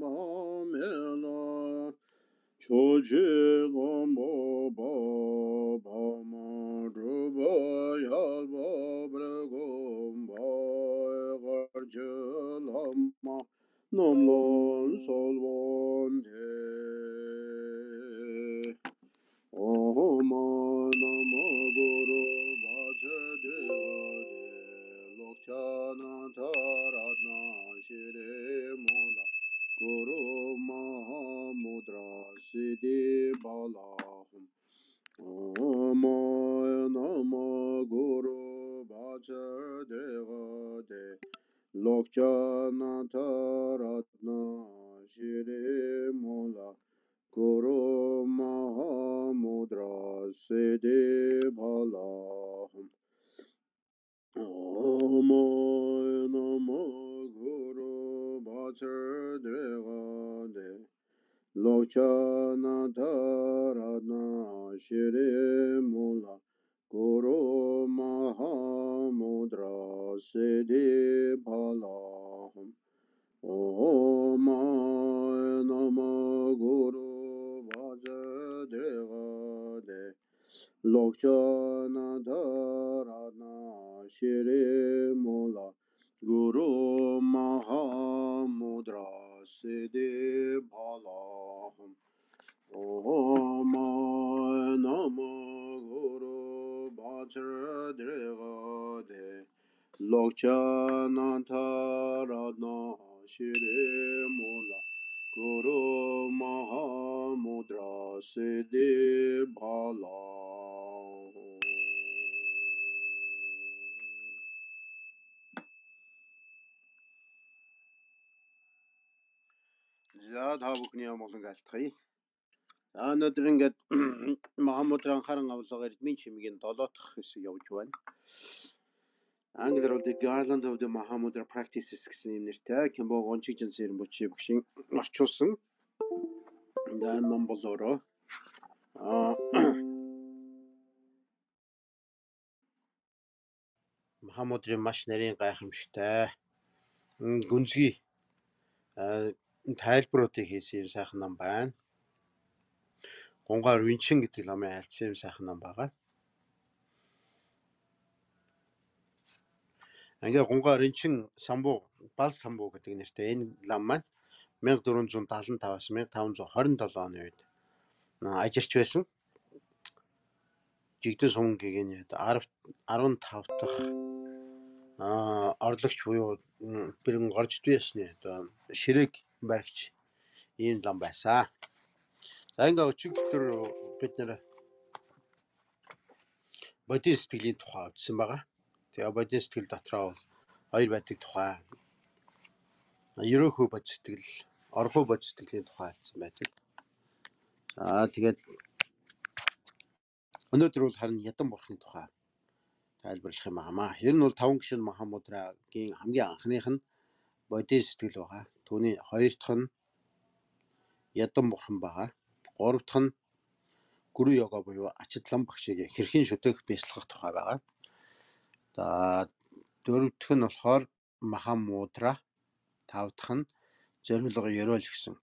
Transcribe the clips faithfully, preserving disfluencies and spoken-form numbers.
mela choje gombo bo bo mo drubo yal bo bregom bo garjelama nomlon solvon de oh ma namo guru bhajadre lokchana taratna shire mola guru mahamudra siddhi balahum oh ma namo guru bhajadre lokchana taratna shire mola Guru Mahamudra Siddhi Bhalahum Om Namo Guru Bhajadre Lokchana Taratna Shri Mula Guru Mahamudra Siddhi Bhalahum Om Namo Guru Bhajadre Lokchana Taratna Shri Mula Guru Mahamudra Siddhi Bhalahum Om Namo Guru Bhajadre Lokchana Taratna Shri Mula Guru Mahamudra Siddhi Bhalahum. За та бүхний амгалан алтгая. За өнөөдөр ингээд Mahamudra анхааран авлага эрдмийн чимгийн долоо дахь хэсэг явж байна. Англиар бол The Garland of the Mahamudra Practices гэсэн юм нэртэй Кимбог ончигжин сэрэн бүчи багшин орчуулсан. За ном болоороо аа Mahamudraын маш нарийн гайхамшигтай гүнзгий тайлбаруудыг хийсэн сайхан ном байна. Гунгаар Винчин гэдэг номын айлцсан сайхан ном байгаа. Ингээ Гунгаар Винчин самбуу, бал самбуу гэдэг нэртэй энэ ном маань мянга дөрвөн зуун даалан таваас мянга таван зуун хорин долоо оны үед ажиллаж байсан. Жигдэн сумгийн арван тав дахь аа орлогч буюу бэрэн горж дүйсний одоо ширээг баригч ийм лам байсан. За ингээ өчигдөр бид нэр бодис сэтгэлийн тухай үзсэн байгаа. Тэгээ бодис сэтгэл дотроо хоёр байдаг тухай. Ерөөхөө бодис сэтгэл, орхуу бодис сэтгэлийн тухай хэлсэн байдаг. За тэгээд өнөөдөр бол харин ядан бурхны тухай тайлбарлах юм аа. Ер нь бол таван гишүүн Mahamudra-гийн хамгийн анхных нь бодис сэтгэл байгаа. Түүний хоёр дахь нь ядан бурхан байгаа. Гурав дахь нь гүрү йога буюу ачатлан багшийг хэрхэн шүтэх бяцлахах тухай байгаа. За дөрөв дэх нь болохоор Mahamudra, тав дахь нь зориулга ёроол гэсэн.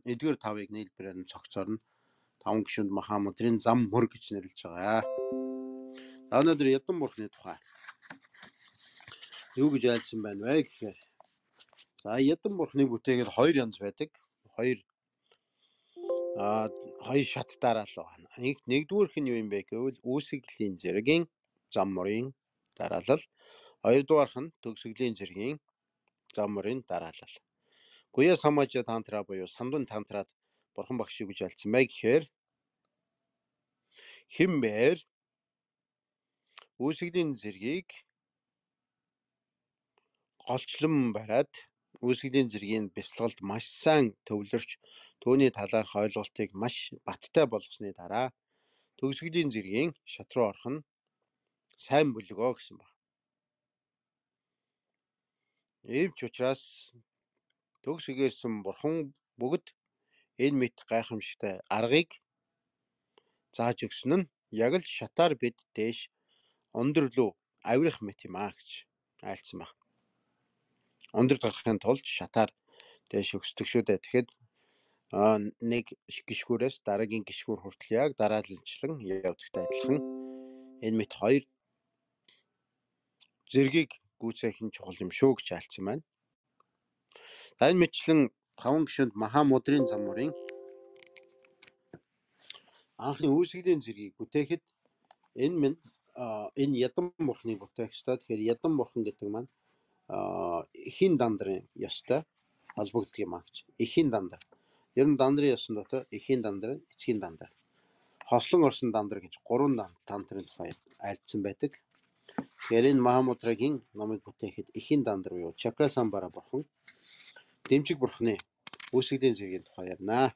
Эдгээр тавыг нийлбэрээр нь цогцорно. Таван гишүүнд Mahamudra-ийн зам мөр гэж нэрлэж байгаа. За өнөөдөр ядан бурхны тухай юу гэж айлцсан байна вэ гэхээр за ядан бурхны бүтээгэл хоёр янз байдаг. Хоёр а хоёр шат дараалал байна. Нэгдүгээрх нь юу юм бэ гэвэл үүсгэлийн зэргийн зам мөрийн дараалал. Хоёрдугаарх нь төгсгөлийн зэргийн зам мөрийн дараалал. Гуя самажа тантра буюу самдун тантраад бурхан багш юу гэж айлцсан бэ гэхээр химбэр үүсгэлийн зэргийг голчлон бариад үүсгэлийн зэргийн бяцлагалд маш сайн төвлөрч түүний талаарх ойлголтыг маш баттай болгосны дараа төгсгөлийн зэргийн шат руу орох нь сайн бүлгөө гэсэн ба. Ийм ч учраас төгсгөөсөн бурхан бүгд энэ мэт гайхамшигтай аргыг зааж өгсөн нь яг л шатаар бид дээш өндөр рүү авирах мэт юм аа гэж айлцсан ба. Өндөр гарахын тулд шатаар Дээш өсдөг шүү дээ. Тэгэхэд аа нэг гişгүүрээс дараагийн гişгүүр хүртэл яг дараалалчлан явдагтай адилхан энэ мэт хоёр зэргийг гүйцээх нь чухал юм шүү гэж альцсан байна. За энэ мэтчлэн таван гишүүнд Махамудрын замуурын анхны үүсгэлийн зэргийг бүтээхэд энэ минь энэ ядан бурхны бүтээх ёстой. Тэгэхээр ядан бурхан гэдэг маань эхийн дандарын ёстой холбогддог юм аа гэж. Эхийн дандар. Ер нь дандрын ёсон дотор эхийн дандар, эцгийн дандар, хослон орсон дандар гэж гурван дандрын тухай альцсан байдаг. Тэгэхээр энэ Махамудрагийн номыг бүтээхэд эхийн дандар буюу Чакрасамбара бурхан, дэмжиг бурхны үүсгэлийн зэргийн тухай ярина.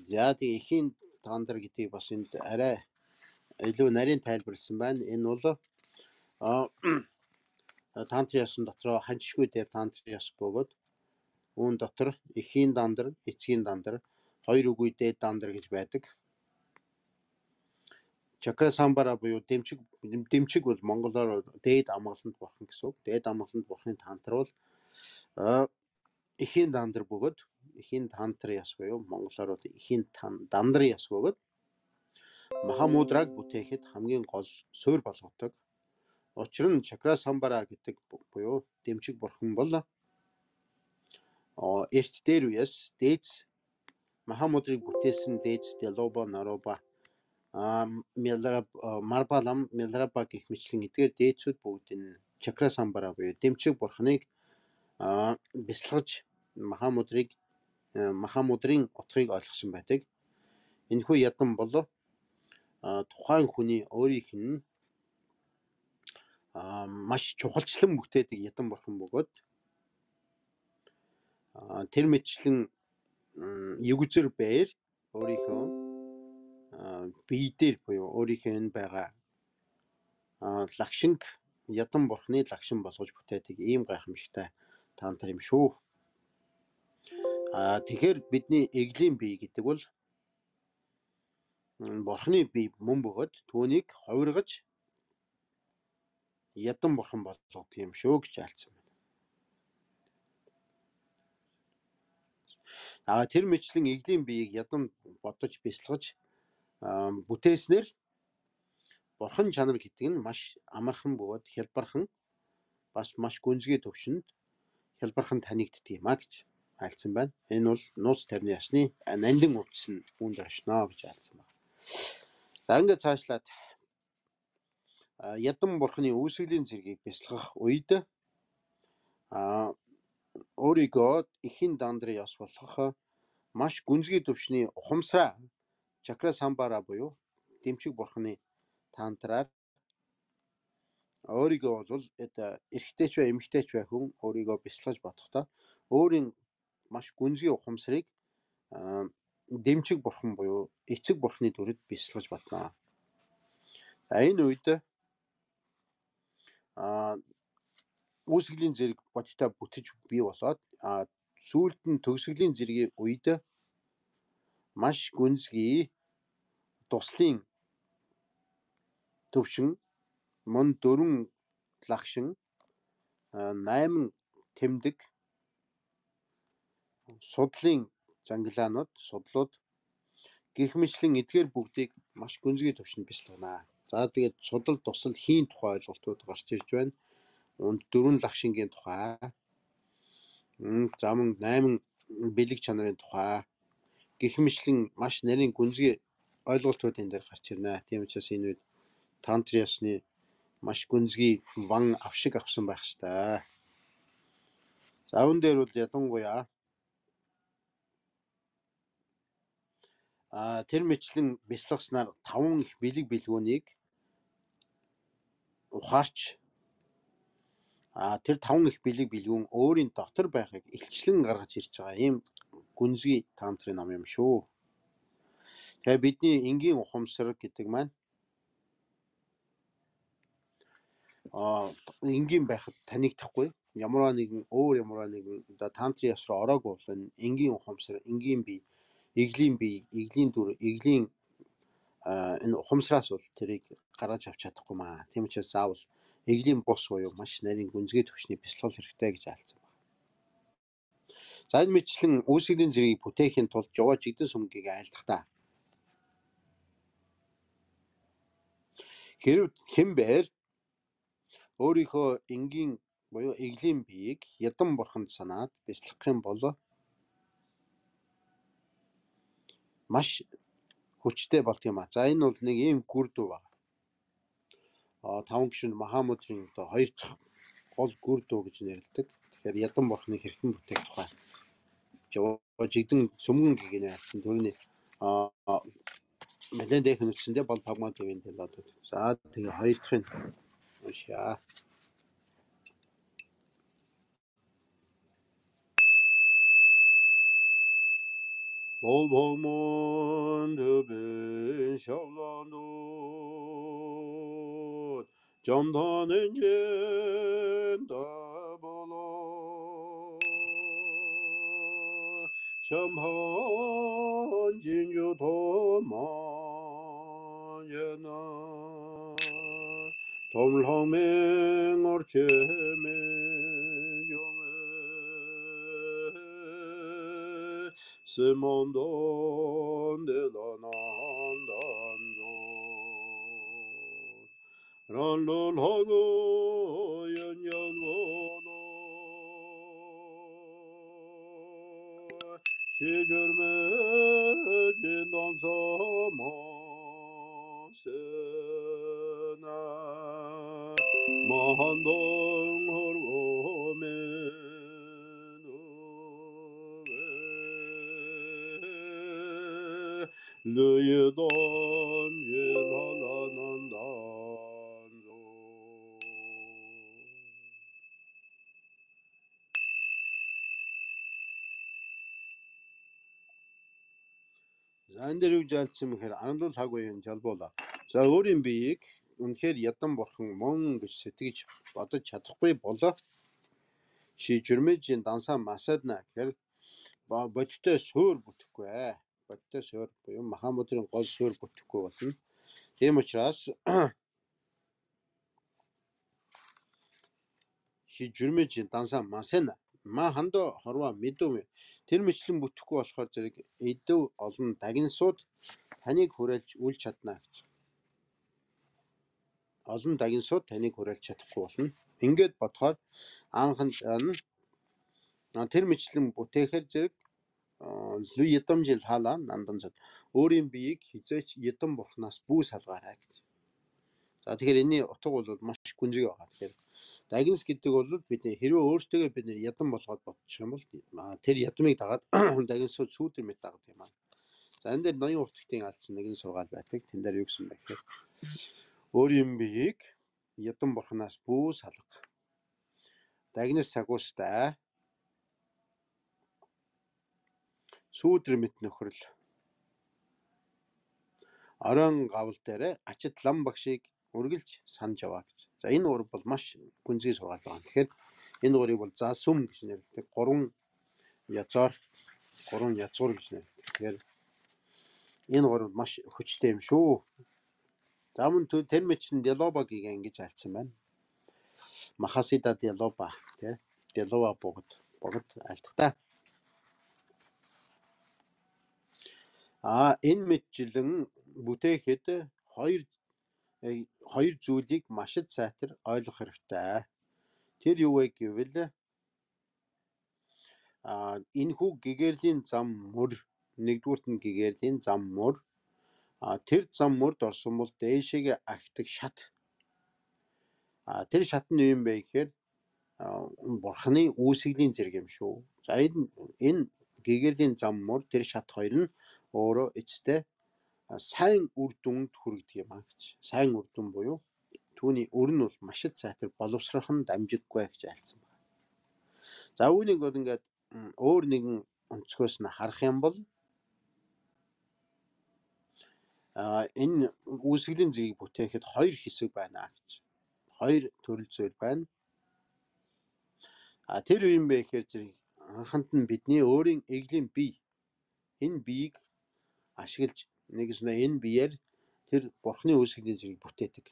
За тэгээ эхийн дандар гэдгийг бас энд арай илүү нарийн тайлбарлсан байна. Энэ бол тантрын ёсон дотроо ханчшгүй дээр тантрын ёс бөгөөд үүн дотор эхийн дандар, эцгийн дандар, хоёр үгүй дээд дандар гэж байдаг. Чакрасамбара буюу дэмчиг дэмчиг бол монголоор дээд амгаланд бурхан гэсэн үг. Дээд амгаланд бурханы тантар бол эхийн дандар бөгөөд эхийн тантрын ёс буюу монголоор эхийн дандрын ёс бөгөөд Махамудраг бүтээхэд хамгийн гол суурь болгодог. Учир нь Чакрасамбара гэдэг буюу дэмчиг бурхан бол эрт дээр үеэс дээдс Махамудрыг бүтээсэн дээдс Делоба, Нароба, Марбалам, Милраба гэх мэтлэн эдгээр дээдсүүд бүгд энэ Чакрасамбара буюу дэмчиг бурханыг бясалгаж Махамудрыг Махамудрын утгыг ойлгосон байдаг. Энэхүү ядан бол тухайн хүний өөрийнх нь маш чухалчлан бүтээдэг ядан бурхан бөгөөд тэр мэтчлэн югзэр бээр өөрийнхөө бие дээр буюу өөрийнхөө энэ байгаа лагшинг ядан бурхны лагшин болгож бүтээдэг ийм гайхамшигтай тантар юм шүү. А тэгэхээр бидний эглийн бие гэдэг бол бурхны бие мөн бөгөөд түүнийг хувиргаж ядан бурхан болгодог юм шүү гэж альцсан байна. А тэр мэтлэн эглийн биеийг ядан бодож бясалгаж бүтээснээр бурхан чанар гэдэг нь маш амархан бөгөөд хялбархан бас маш гүнзгий төвшөнд хялбархан танигддаг юм а гэж альцсан байна. Энэ бол нууц тарны ясны нандин өвчс нь үүнд оршно гэж альцсан байна. За ингээд цаашлаад ядан бурхны үүсгэлийн зэргийг бясалгах үед а өөрийгөө эхийн дандрын ёс болгох маш гүнзгий төвшний ухамсараа Чакрасамбара буюу дэмчиг бурхны тантраар өөрийгөө бол эрэгтэйч бай эмэгтэйч бай хүн өөрийгөө бясалгаж бодохдоо өөрийн маш гүнзгий ухамсарыг дэмчиг бурхан буюу эцэг бурхны дүрд бясалгаж бодно. За энэ үед а үүсгэлийн зэрэг бодтой бүтэж бий болоод сүүлд нь төгсгөлийн зэргийн үед маш гүнзгий туслын төвшин мөн дөрвөн лагшин найман тэмдэг судлын зангилаанууд судлууд гэх мэтлэн эдгээр бүгдийг маш гүнзгий төвшөнд бясалгана. За тэгээд судал тусал хийн тухай ойлголтууд гарч ирж байна. Унд дөрвөн лагшингийн тухай, замун найман бэлэг чанарын тухай гэх мэтлэн маш нарийн гүнзгий ойлголтууд энэ дээр гарч ирнэ. Тийм учраас энэ үед тантрын ёсны маш гүнзгий ван авшиг авсан байх ёстой. За үүн дээр бол ялангуяа а тэр мэтлэн бясалгаснаар таван их бэлэг бэлгүүнийг ухаарч а тэр таван их бэлэг бэлгүүн өөрийн дотор байхыг илчлэн гаргаж ирж байгаа ийм гүнзгий тантрын ном юм шүү. Тэгээ бидний энгийн ухамсар гэдэг маань а энгийн байхад танигдахгүй ямар нэгэн өөр ямар нэгэн оо тантрын ёс руу ороогүй бол энэ энгийн ухамсар, энгийн бие, эглийн бие, эглийн дүр, эглийн энэ ухамсараас бол тэрийг гаргаж авч чадахгүй маа. Тийм учраас заавал эглийн бус буюу маш нарийн гүнзгий түвшний бясалгал хэрэгтэй гэж айлцсан байна. За энэ мэтчлэн үүсгэлийн зэргийг бүтээхийн тулд жоо жигдэн сүмгийг айлдахдаа хэрв хэмбэр өөрийнхөө энгийн буюу эглийн биеийг ядан бурханд санаад бясалгах юм бол маш хүчтэй болт юм а. За энэ бол нэг ийм гүр дүү байна. А таван гишүүнд Махамудрын одоо хоёр дахь гол гүр дүү гэж нэрлэдэг. Тэгэхээр ядан бурхны хэрхэн бүтээх тухай жоо жигдэн сүмгэн гэгэний айлцсан төрний а мэдэн дэх нүцэндээ бол пагмаа төвийн дэлгүүд. За тэгээ хоёр дахь нь уншаа. Бол пагмаа төвийн шавланууд 점다는 젠다 볼로 샴한 진주도 만제나 돔랑맹 얼체메 요메 세몬돈 데라난단도 랄랄하고 연연원호 시절매 진단사마세나 마한동허로메누베 르예던 예라라난다 За энэ дээр юу жаалцсан мэхээр анамдуул хагуйн жалбуула. За өөрийн биеийг үнэхээр ядан бурхан мөн гэж сэтгэж бодож чадахгүй болоо шийжүрмэжийн дансаа масадна гэхээр бодтой суур бүтэхгүй ээ. Бодтой суур буюу Махамудрын гол суур бүтэхгүй болно. Тийм учраас шийжүрмэжийн дансаа масана ма хандо хорва мэдвэ тэр мэтлэн бүтэхгүй болохоор зэрэг эдв олон дагнасууд таныг хүрээлж үл чадна гэж. Олон дагнасууд таныг хүрээлж чадахгүй болно. Ингээд бодохоор анхан тэр мэтлэн бүтээхээр зэрэг лүй ядамжил хаалаа нандан зад өөрийн биеийг хизээч ядан бурхнаас бүү салгаарай гэж. За тэгэхээр энэний утга бол маш гүнзгий байгаа. Тэгэхээр дагнас гэдэг бол бидний хэрвээ өөртөө бид нэр ядан болгоод бодчих юм бол тэр ядмыг дагаад дагнасууд сүүдэр мэт дагдаг юм аа. За энэ дээр ноён уртгтын алдсан нэгэн сургаал байдаг. Тэн дээр юу гэсэн бэ гэхээр өөрийн биеийг ядан бурхнаас бүү салга. Дагнас сагуустай сүүдэр мэт нөхрөл орон гавл дээр ачид лам багшийг үргэлж санаж яваа гэж. За энэ ур бол маш гүнзгий сургаал байна. Тэгэхээр энэ урыг бол за сүм гэж нэрлэдэг. Гурван язгаар гурван язгуур гэж нэрлэдэг. Тэгэхээр энэ ур маш хүчтэй юм шүү. За мөн тэр мэчин Делобагийг ингэж альцсан байна. Махасида Делоба тий Делоба богд богд альтгата. А энэ мэтчлэн бүтээхэд хоёр хоёр зүйлийг маш их сайтар ойлгох хэрэгтэй. Тэр юу вэ гэвэл а энэ хүү гэгэрлийн зам мөр нэгдүгürt нь гэгэрлийн зам мөр а тэр зам мөрд орсон бол дээшээгээ агтдаг шат. А тэр шат нь юу юм бэ гэхээр бурхны үүсгэлийн зэрэг юм шүү. За энэ энэ гэгэрлийн зам мөр тэр шат хоёр нь өөрөө эцтэй сайн үр дүнд хүргэдэг юм а гэж. Сайн үр дүн буюу түүний өр нь бол маш их сайтар боловсрох нь дамжиггүй гэж айлцсан байна. За үүнийг бол ингээд өөр нэгэн өнцгөөс нь харах юм бол а энэ үүсгэлийн зэргийг бүтээхэд хоёр хэсэг байна гэж. Хоёр төрөл зүйл байна. А тэр юу юм бэ гэхээр зэрэг анханд нь бидний өөрийн эглийн бие энэ биеийг ашиглаж нэгснэ энэ биеэр тэр бурхны үүсгэлийн зэргийг бүтээдэг.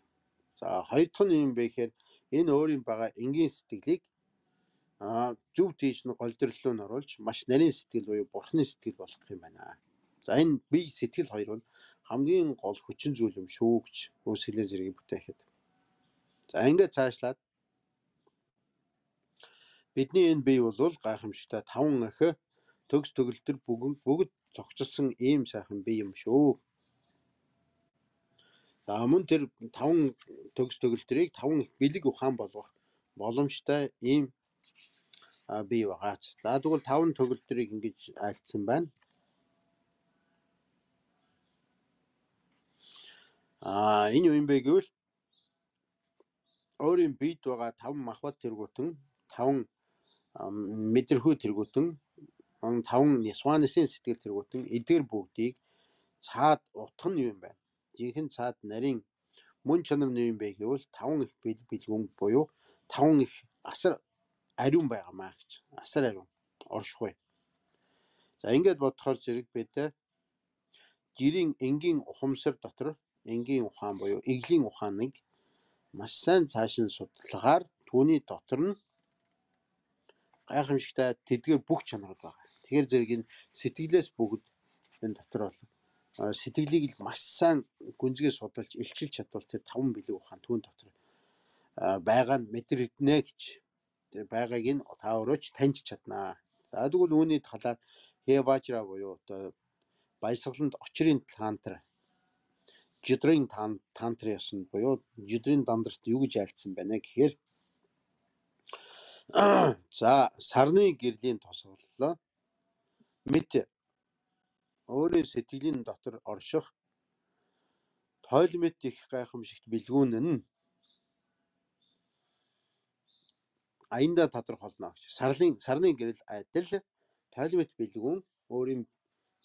За хоёр дахь нь юм бэ гэхээр энэ өөрийн байгаа энгийн сэтгэлийг а зөв тийш нь голдөрлөө нь оруулж маш нарийн сэтгэл буюу бурхны сэтгэл болгох юм байна. За энэ бие сэтгэл хоёр бол хамгийн гол хүчин зүйл юм шүү гэж Үсгэлэн зэргийг бүтээхэд. За ингээд цаашлаад бидний энэ бие бол гайхамшигтай таван ах төгс төгөлтөр бүгд бүгд цогцолсон ийм сайхан бие юм шүү. За мөн тэр таван төгс төгөлтрийг таван их бэлэг ухаан болгох боломжтой ийм бие байгаач. За тэгвэл таван төгөлтрийг ингэж айлтсан байна. А энэ юу юм бэ гэвэл өөрийн биед байгаа таван махбат тэргуутан, таван мэдэрхүй тэргуутан, таван нисванысын сэтгэл тэргуутан эдгээр бүгдийг цаад утх нь юу юм бэ? Жинхэнэ цаад нарийн мөн чанар нь юу юм бэ гэвэл таван их бэлэг бэлгүүн буюу таван их асар ариун байгаамаа гэж. Асар ариун, оршихуй. За ингээд бодохоор зэрэг бид гэрийн энгийн ухамсар дотор энгийн ухаан буюу эглийн ухааныг маш сайн цааш нь судалгаар түүний дотор нь гайхамшигтай тэдгээр бүх чанарууд байгаа. Тэгэхээр зэрэг энэ сэтгэлээс бүгд энэ дотор бол сэтгэлийг л маш сайн гүнзгий судалж илчилж чадвал тэр таван бэлэг ухаан түүн дотор байгаа нь мэдрэгдэнэ гэж. Тэр байгааг нь та өөрөөч таньж чаднаа. За тэгвэл үүний талаар Хеважра буюу одоо баясгаланд очрын тантр жидрийн тантр ясан буюу жидрийн дандарт юу гэж айлдсан байна гэхээр за сарны гэрлийн тосголоо мэд өөрийн сэтгэлийн дотор орших тойлмет их гайхамшигт бэлгүүн нь аянда тодорхойлно гэж. Сарлын сарны гэрэл адил тойлмет бэлгүүн өөрийн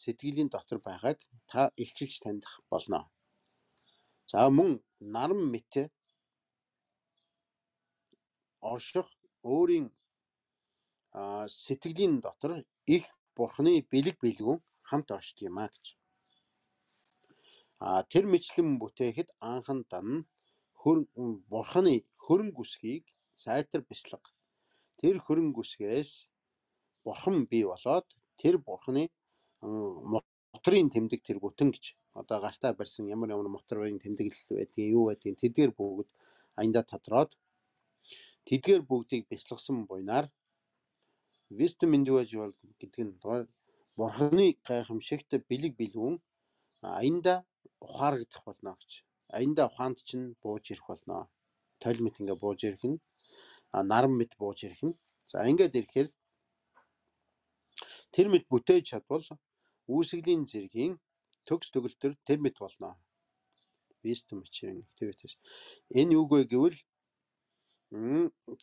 сэтгэлийн дотор байгааг та илчилж таних болно. За мөн наран мэт орших өөрийн сэтгэлийн дотор их бурхны бэлэг бэлгүүн хамт оршдог юм а гэж. А тэр мэтлэн бүтээхэд анхан дан бурхны хөрөнгө үсгийг сайтар бяцлага. Тэр хөрөнгө үсгээс бурхан бий болоод тэр бурхны моторын тэмдэг тэргүүтэн гэж. Одоо гартаа барьсан ямар ямар моторын тэмдэглэл байдгийг юу байдгийг тэдгээр бүгд аянда тодроод тэдгээр бүгдийг бяцлагсан буйнаар wisdom individual гэдэг нь бурхны гайхамшигт бэлэг бэлгүүн аянда ухаарагдах болно гэж. Аянда ухаанд чинь бууж ирэх болно. Тойлмет ингээ бууж ирэх нь наран мэд бууж ирэх нь. За ингээд ирэхээр тэр мэд бүтээж чадвал үүсгэлийн зэргийн төгс төгөлтөр тэр мэд болно. Wisdom чинь activities. Энэ юу вэ гэвэл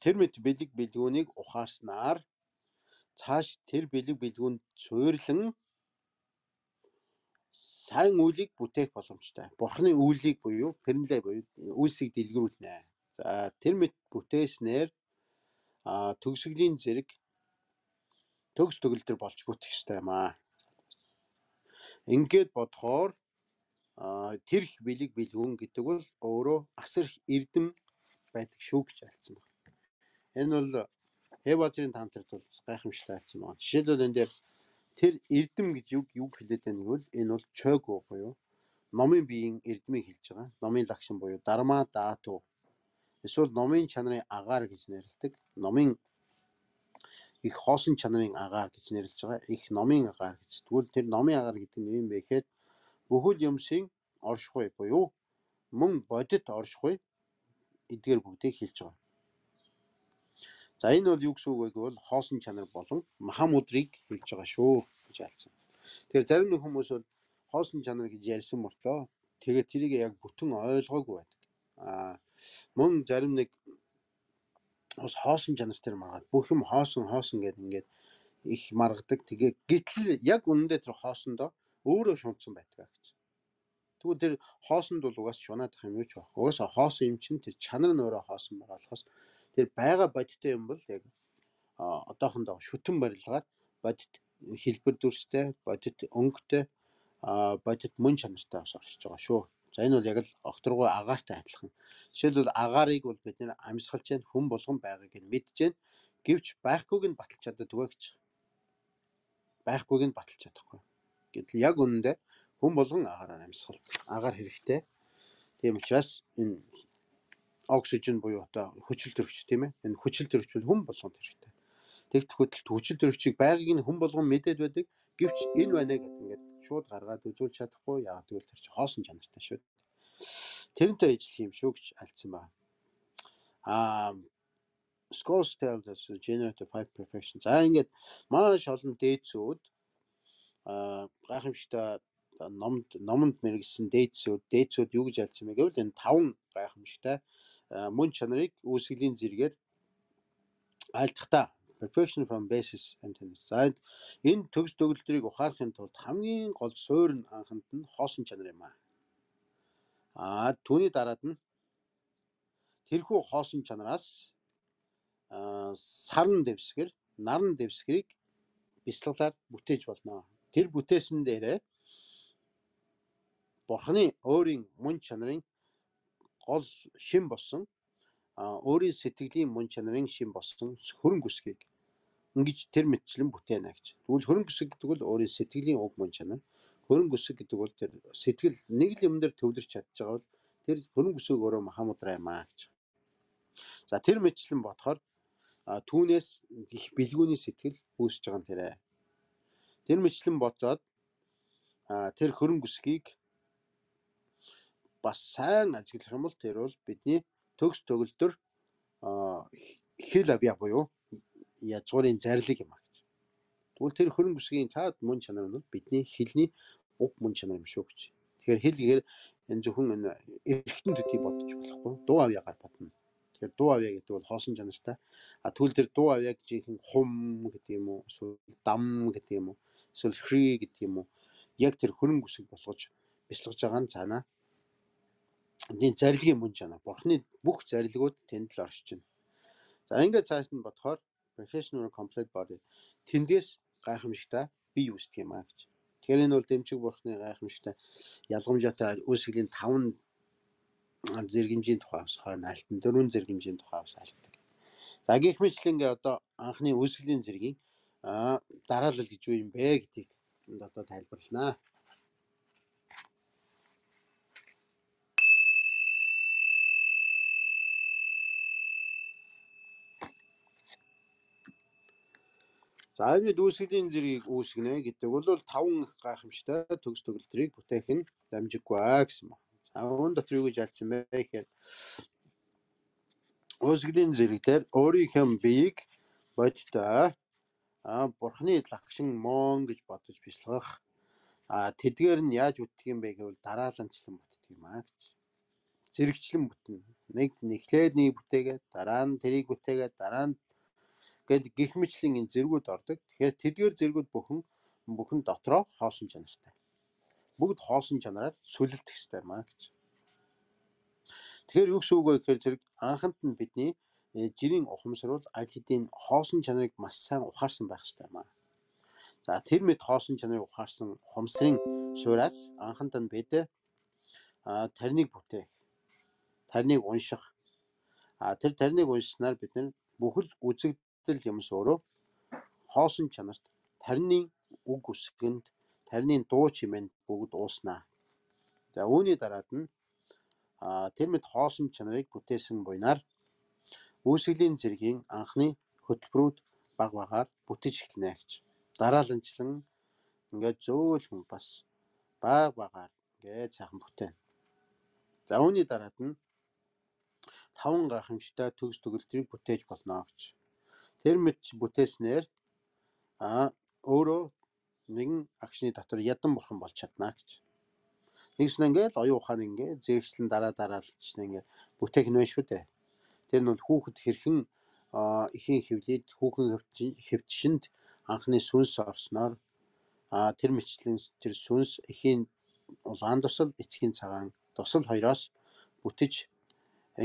тэр мэд бэлэг бэлгүүнийг ухаарснаар цааш тэр бэлэг бэлгүүнд суйрлан сайн үйлийг бүтээх боломжтой. Бурхны үйлийг буюу пернлэ буюу үйлсийг дэлгэрүүлнэ. За тэр мэд бүтээснээр төгсгөлийн зэрэг төгс төгөлтөр болж бүтэх ёстой юм аа. Ингээд бодохоор тэр их бэлэг бэлгүүн гэдэг бол өөрөө асар их эрдэм байдаг шүү гэж альцсан байна. Энэ бол Хеважрын тантрт бол гайхамшигтай альцсан байна. Жишээлбэл энэ дээр тэр эрдэм гэж юу юу хэлээд байна гэвэл энэ бол чойго буюу номын биеийн эрдмийг хэлж байгаа. Номын лагшин буюу дарма даату. Эсвэл номын чанарын агаар гэж нэрлэдэг. Номын их хоосон чанарын агаар гэж нэрлэж байгаа. Их номын агаар гэж. Тэгвэл тэр номын агаар гэдэг нь юм бэ гэхээр бүхэл юмсын оршихуй буюу мөн бодит оршихуй эдгээр бүгдийг хэлж байгаа. За энэ бол юу гэсэн үг вэ гэвэл хоосон чанар болон махамудрыг хэлж байгаа шүү гэж альцсан. Тэгэхээр зарим нэг хүмүүс бол хоосон чанар гэж ярьсан мөртлөө тэгээд тэрийг яг бүтэн ойлгоогүй байдаг. Аа мөн зарим нэг бас хоосон чанар тэр маргаад бүх юм хоосон хоосон гэдэг ингээд их маргадаг. Тэгээ гэтэл яг үнэндээ тэр хоосондоо өөрөө шунтсан байдаг гэж. Тэгвэл тэр хоосонд бол угаас шунаадах юм юу ч байх. Угаасаа хоосон юм чинь тэр чанар нь өөрөө хоосон байгаа болохоос тэр байга бодиттой юм бол яг одоохондоо шүтэн барилгаар бодит хэлбэр дүрстэй, бодит өнгөтэй, бодит мөн чанартай бас оршиж байгаа шүү. За энэ бол яг л огторгой агаартай адилхан. Жишээлбэл агаарыг бол бид нэр амьсгалж जैन хүн болгон байгааг нь мэдж जैन. Гэвч байхгүйг нь баталж чаддаггүй гэж. Байхгүйг нь баталж чадахгүй. Гэтэл яг үнэндээ хүн болгон агаараар амьсгал. Агаар хэрэгтэй. Тийм учраас энэ оксижен буюу одоо хүчил төрөгч тийм ээ. Энэ хүчил төрөгч хүн болгонд хэрэгтэй. Тэгт хөдөлт хүчил төрөгчийг байгааг нь хүн болгон мэдээд байдаг. Гэвч энэ байна гэдэг ингээд шууд гаргаад үзүүлж чадахгүй. Яг тэгвэл тэр чинь хоосон чанартай шүү. Тэрнтэй ажиллах юм шүү гэж альцсан байна. Аа Scholars tell us generative five perfection. За ингээд маш олон дээдсүүд аа гайхамшигтай номд номонд мэргэсэн дээдсүүд дээдсүүд юу гэж альцсан бэ гэвэл энэ таван гайхамшигтай мөн чанарыг үүсгэлийн зэрэгээр айлтгахтаа perfection from basis emptiness. За энэ төгс төгөлдрийг ухаарахын тулд хамгийн гол суурь нь анханд нь хоосон чанар юм аа. Аа түүний дараад нь тэрхүү хоосон чанараас аа сарн дэвсгэр, наран дэвсгэрийг бяцлаглаар бүтээж болно. Тэр бүтээсэн дээрээ Бурханы өөрийн мөн чанарын гол шин болсон аа өөрийн сэтгэлийн мөн чанарын шин болсон хөрөнгө үсгийг ингэж тэр мэтчлэн бүтээнэ гэж. Тэгвэл хөрөнгө үсэг гэдэг бол өөрийн сэтгэлийн уг мөн чанар. Хөрөнгө үсэг гэдэг бол тэр сэтгэл нэг л юм дээр төвлөрч чадж байгаа бол тэр хөрөнгө үсэг өөрөө Махамудраа юм аа гэж. За тэр мэтчлэн бодохоор түүнээс их бэлгүүний сэтгэл үүсэж байгаа юм тэрэ. Тэр мэтчлэн бодоод тэр хөрөнгө үсгийг бас сайн ажиглах юм бол тэр бол бидний төгс төгөлдөр хэл авья буюу язгуурын зарлиг юм аа гэж. Тэгвэл тэр хөрөнгө үсгийн цаад мөн чанар нь бидний хэлний уг мөн чанар юм шүү гэж. Тэгэхээр хэл гэхээр энэ зөвхөн энэ эргэтэн төдий бодож болохгүй. Дуу авьяагаар бодно. Тэгэхээр дуу авьяа гэдэг бол хоосон чанартай. А тэгвэл тэр дуу авьяаг жинхэнэ хум гэдэг юм уу, эсвэл дам гэдэг юм уу, эсвэл хри гэдэг юм уу, яг тэр хөрөнгө үсэг болгож бяцлагж байгаа нь цаанаа энэ зарилгийн мөн чанар. Бурхны бүх зарилгууд тэнд л оршиж байна. За ингээд цааш нь бодохоор perfection or complete body тэндээс гайхамшигтай бие үүсдэг юм аа гэж. Тэгэхээр энэ бол дэмчиг Бурхны гайхамшигтай ялгамжаатай үүсгэлийн таван зэргэмжийн тухай бас хойно альтан дөрвөн зэргэмжийн тухай бас альтдаг. За гэх мэтлэнгээ одоо анхны үүсгэлийн зэргийн дараалал гэж юу юм бэ гэдгийг энд одоо тайлбарланаа. За энэ үүсгэлийн зэргийг үүсгэнэ гэдэг бол таван их гайхамшигтай төгс төгөлдрийг бүтээх нь дамжиггүй аа гэсэн байна. За үүн дотор юу гэж альцсан бэ гэхээр үүсгэлийн зэрэг дээр өөрийнхөө биеийг бодтой а Бурхны лагшин мон гэж бодож бяцлагах а тэдгээр нь яаж бүтдэг юм бэ гэвэл дарааланчлан бүтдэг юм аа гэж. Зэрэгчлэн бүтнэ. Нэг нэхлээд нэг бүтээгээд дараа нь тэрийг бүтээгээд дараа нь гэд гих мэтлэн энэ зэргүүд ордог. Тэгэхээр тэдгээр зэргүүд бүхэн бүхэн дотроо хоосон чанартай. Бүгд хоосон чанараар сүлэлдэх ёстой юм аа гэж. Тэгэхээр юу гэсэн үг вэ гэхээр зэрэг анханд нь бидний жирийн ухамсар бол аль хэдийн хоосон чанарыг маш сайн ухаарсан байх ёстой юм аа. За тэр мэд хоосон чанарыг ухаарсан ухамсарын суураас анханд нь бид а тарныг бүтээх, тарныг унших. А тэр тарныг уншснаар бид нар бүхэл үзэгдэл юмс өөрөө хоосон чанарт тарны үг үсгэнд, тарны дуу чимээнд бүгд ууснаа. За үүний дараад нь а тэр мэд хоосон чанарыг бүтээсэн буйнаар үүсгэлийн зэргийн анхны хөтөлбөрүүд баг багаар бүтэж эхэлнэ гэж. Дарааланчлан ингээд зөөлхөн бас баг багаар ингээд сайхан бүтээнэ. За үүний дараад нь таван гайхамшигтай төгс төгөлдрийг бүтээж болно гэж. Тэр мэд бүтээснээр а өөрөө нэгэн агшны дотор ядан бурхан болж чадна гэж. Нэгсэн ингээд оюун ухаан ингээд зэвсэлэн дараа дараалж ингээд бүтээх нь байна шүү дээ. Тэр нь хүүхэд хэрхэн ихийн хөвлөд хүүхэн хөвчшөнд анхны сүнс орсноор а тэр мэтлэн тэр сүнс ихийн улаан тусал эцгийн цагаан тусал хоёроос бүтэж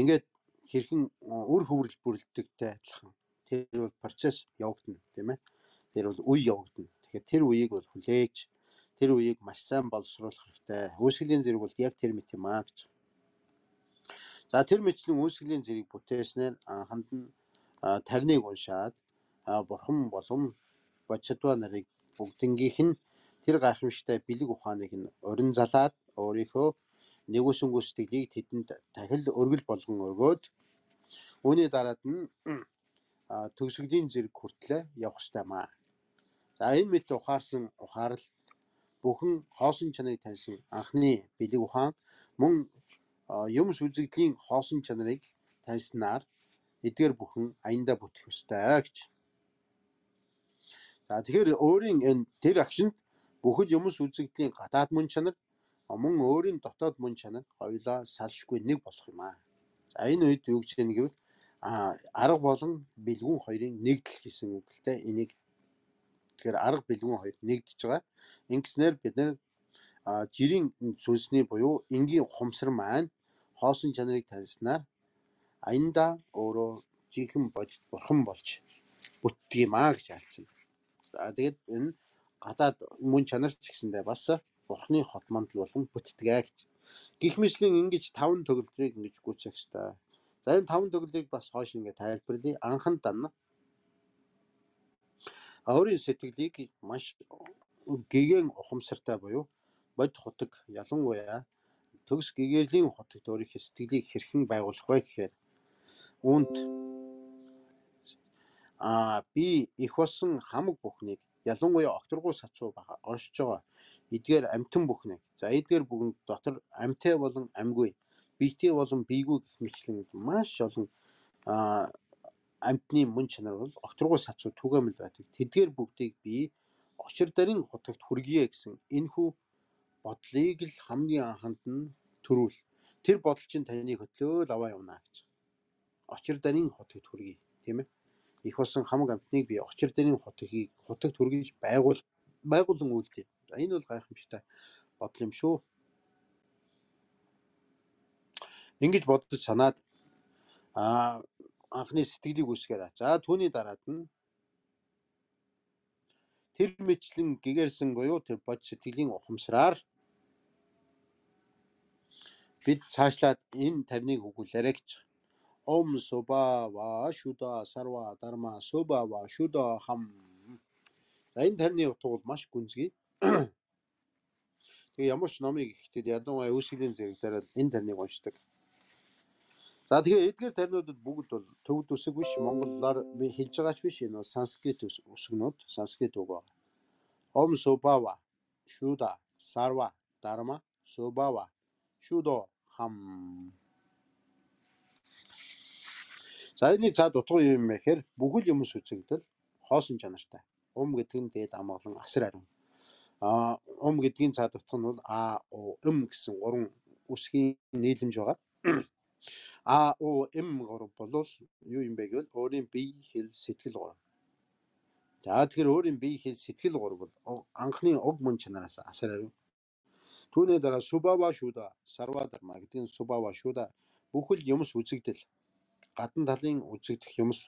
ингээд хэрхэн үр хөврөл бүрэлдэгтэй адилхан тэр бол процесс явагдана тийм ээ. Тэр бол үе явагдана. Тэгэхээр тэр үеийг бол хүлээж тэр үеийг маш сайн боловсруулах хэрэгтэй. Үүсгэлийн зэрэг бол яг тэр мэт юм аа гэж. За тэр мэтлэн үүсгэлийн зэрэг бүтээснээр анханд нь тарныг уншаад бурхан болон бодсодва нарыг бүгднгийнх нь тэр гайхамшигтай бэлэг ухааныг нь урин залаад өөрийнхөө нэгүсэнгү сэтгэлийг тэдэнд дахил өргөл болгон өргөөд үүний дараад нь төгсгөлийн зэрэг хүртлээр явах ёстой маа. За энэ мэт ухаарсан ухаарл бүхэн хоосон чанарыг таньсан анхны бэлэг ухаан мөн юмс үзэгдлийн хоосон чанарыг таньснаар эдгээр бүхэн аяндаа бүтэх ёстой гэж. За тэгэхээр өөрийн энэ тэр агшинд бүхэл юмс үзэгдлийн гадаад мөн чанар мөн өөрийн дотоод мөн чанар хоёулаа салшгүй нэг болох юм аа. За энэ үед юу гэж хэлнэ гэвэл арга болон бэлгүүн хоёрын нэгдэл гэсэн үгтэй энийг тэгэхээр арга бэлгүүн хоёр нэгдэж байгаа. Ингэснээр бид нэр жирийн сүнсний буюу энгийн ухамсар маань хоосон чанарыг таньснаар аяндаа өөрөө жинхэнэ бодит бурхан болж бүтдэг юм аа гэж альцсан. За тэгээд энэ гадаад мөн чанар ч гэсэндээ бас бурханы хот мандал болон бүтдэг гэж. Гэх мэтлийн ингэж таван төгөлдрийг ингэж гүйцэх ёстой. За энэ таван төгөлдрийг бас хойш ингэ тайлбарлая. Анхан дан өөрийн сэтгэлийг маш гэгэн ухамсартай буюу бод хутаг ялангуяа төгс гэгэрлийн хотогт өөрийнхөө сэтгэлийг хэрхэн байгуулах вэ гэхээр үүнд а би их болсон хамаг бүхнийг ялангуяа огторгуу сацуу бага оршиж байгаа эдгээр амтан бүхнийг за эдгээр бүгд дотор амтай болон амгүй биетэй болон биегүй гэх мэтлэн маш олон а амтны мөн чанар бол огторгуу сацуу түгээмэл байдаг. Тэдгээр бүгдийг би очир дарын хотогт хүргье гэсэн энэхүү бодлыг л хамгийн анханд нь төрүүл. Тэр бодол чинь таны хөтлөөл аваа явна гэж. Очир дарын хотогт хүргье, тийм ээ. Их болсон хамаг амтныг би очир дарын хотгийг хотогт хүргэж байгуул байгуулан үйлдээ. За энэ бол гайхамшигтай бодол юм шүү. Ингэж бодож санаад а анхны сэтгэлийг үсгээрээ. За түүний дараад нь тэр мэтлэн гэгэрсэн буюу тэр бод сэтгэлийн ухамсараар бид цаашлаад энэ тарныг өгүүлээрэй гэж. Ом соба ва шуда сарва дарма соба ва шуда хам. За энэ тарны утга бол маш гүнзгий. Тэгээ ямар ч номыг ихдээ ядуу үүсгэлийн зэрэг дээр энэ тарныг уншдаг. За тэгээ эдгээр тарнуудад бүгд бол төвд үсэг биш монголоор би хэлж байгаач биш энэ санскрит үсгнүүд санскрит үг байна. Ом собава шуда сарва дарма собава шудо хам. За энэ цаад утга юу юм бэ гэхээр бүхэл юмс үзэгдэл хоосон чанартай. Ум гэдэг нь дээд амгалан асар ариун. А ум гэдгийн цаад утга нь бол а о м гэсэн гурван үсгийн нийлэмж байгаа. А о м гурав бол юу юм бэ гэвэл өөрийн бие хэл сэтгэл гурав. За тэгэхээр өөрийн бие хэл сэтгэл гурав бол анхны уг мөн чанараас асар ариун. Түүний дараа субава шуда сарва дарма гэдэг нь субава шуда бүхэл юмс үзэгдэл гадна талын үзэгдэх юмс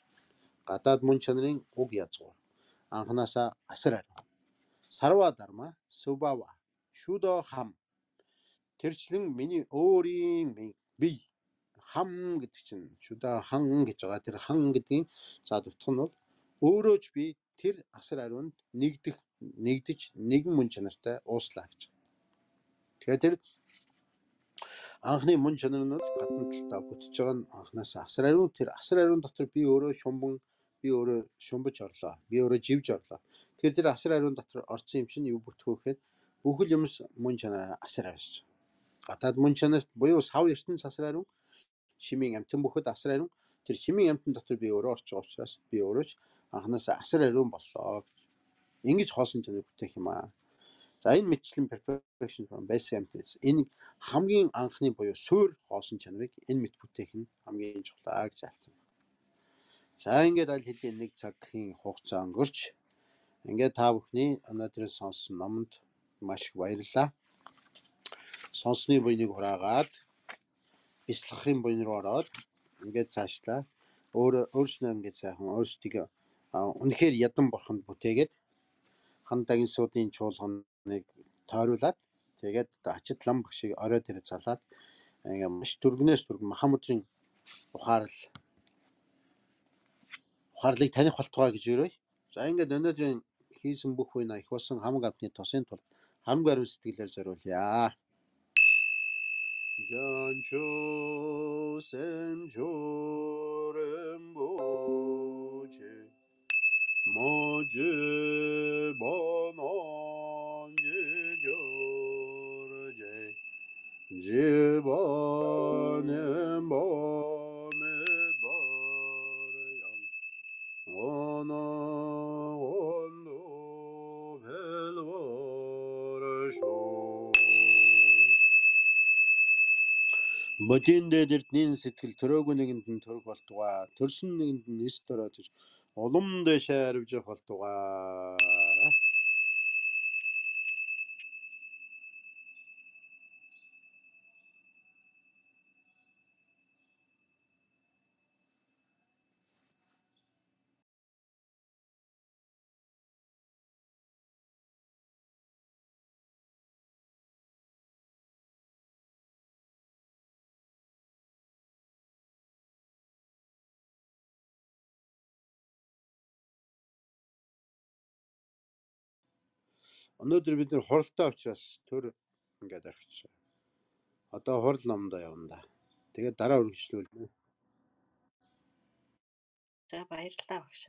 гадаад мөн чанарын уг язгуур анханасаа асар ариун. Сарва дарма субава шуда хам тэрчлэн миний өөрийн бие хам гэдэг чинь шуда хан гэж байгаа. Тэр хан гэдгийн цаад утга нь бол өөрөө ч би тэр асар ариунд нэгдэх нэгдэж нэгэн мөн чанартай ууслаа гэж. Тэгэхээр тэр анхны мөн чанар нь бол гадна талдаа бүтэж байгаа нь анханаас асар ариун. Тэр асар ариун дотор би өөрөө шумбан би өөрөө шумбаж орлоо. Би өөрөө живж орлоо. Тэр тэр асар ариун дотор орсон юм чинь юу бүтэх вэ гэхээр бүхэл юмс мөн чанараар асар авсаж. Гадаад мөн чанарт буюу сав ертөнц асар ариун. Шимийн амтан бүхэд асар ариун. Тэр шимийн амтан дотор би өөрөө орж байгаа учраас би өөрөө ч анханаас асар ариун боллоо. Ингэж хоосон чанар бүтээх юм аа. За энэ мэтчлэн perfection from basic emptiness энэ хамгийн анхны буюу суур хоосон чанарыг энэ мэт бүтээх нь хамгийн чухал гэж альцсан. За ингээд аль хэдийн нэг цагийн хугацаа өнгөрч ингээд та бүхний өнөөдрийн сонссон номонд маш их баярлалаа. Сонсны буйныг хураагаад бяцлахын буйн руу ороод ингээд цаашлаа өөр өөрснөө ингээд сайхан өөрсдөө үнэхээр ядан бурханд бүтээгээд хандагийн суудын чуулганыг тойруулаад тэгээд одоо ачид лам багшийг орой дээр залаад ингээ маш түргнээс түргэн Махамудрын ухаарл ухаарлыг таних болтугай гэж өрөөй. За ингээд өнөөдрийн хийсэн бүх үе их болсон хамаг амтны тосын тулд харамгүй ариун сэтгэлээр зориулъя. Жанчо сэмчорембоче 모주 번원지교르제 지번은 몸에버려 오너 온도 벨워르쇼 Бодин дээрдний сэтгэл төрөөгүй нэгэнд нь төрөг болтугай төрсөн нэгэнд нь эс төрөөж улам дэшээ арвж болтугай. Өнөөдөр бид нэр хуралтай учраас төр ингээд орхиж байгаа. Одоо хурал номдоо явна да. Тэгээд дараа үргэлжлүүлнэ. За баярлалаа багш.